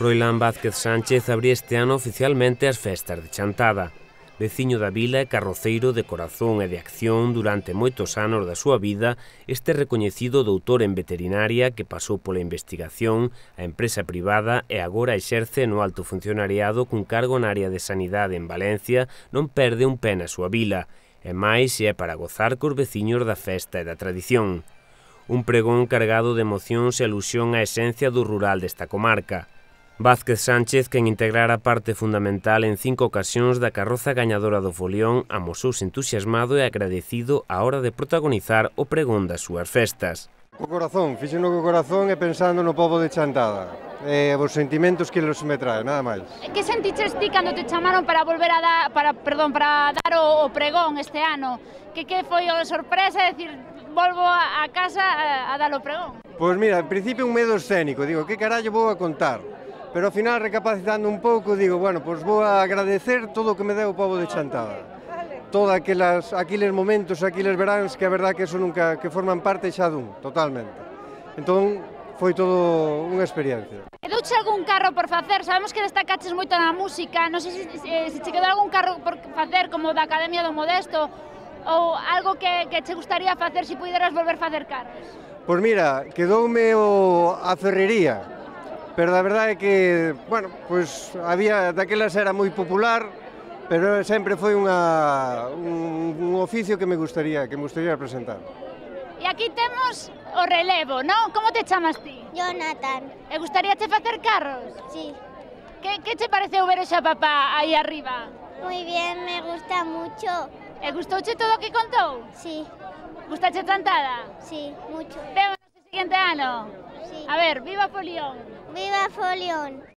Froilán Vázquez Sánchez abría este ano oficialmente as festas de Chantada. Veciño da vila e carroceiro de corazón e de acción durante moitos anos da súa vida, este recoñecido doutor en veterinaria que pasou pola investigación, a empresa privada e agora exerce no alto funcionariado cun cargo na área de sanidade en Valencia, non perde un pé na súa vila, e máis se é para gozar cos veciños da festa e da tradición. Un pregón cargado de emocións e alusión á esencia do rural desta comarca. Vázquez Sánchez, quen integrara parte fundamental en 5 ocasións da carroza gañadora do folión, amosouse entusiasmado e agradecido á hora de protagonizar o pregón das súas festas. Co corazón, fixeno co corazón e pensando no pobo de Chantada, e os sentimentos que los me trae, nada máis. Que sentiches ti cando te chamaron para volver a dar, para dar o pregón este ano? Que foi a sorpresa de decir, volvo a casa a dar o pregón? Pois mira, en principio un medo escénico, digo, que carallo vou a contar? Pero ao final, recapacitando un pouco, digo, bueno, pois vou a agradecer todo o que me deu o pobo de Chantada. Todos aqueles momentos, aqueles veráns que a verdad que eso nunca, que forman parte xa dun, totalmente. Entón, foi todo unha experiencia. E douche algún carro por facer? Sabemos que destacaches moito na música, non sei se che quedou algún carro por facer, como da Academia do Modesto, ou algo que che gustaría facer se puderas volver facer carros? Pois mira, quedoume a ferrería. Pero a verdade é que, bueno, pois había, daquelas era moi popular, pero sempre foi un oficio que me gustaría presentar. E aquí temos o relevo, non? Como te chamas ti? Jonathan. E gustaríache facer carros? Sí. Que che pareceu ver xa papá aí arriba? Muy bien, me gusta mucho. E gustouche todo o que contou? Sí. Gustache Chantada? Sí, mucho. Vemos o seguinte ano? Sí. A ver, viva Folión! ¡Viva Folión!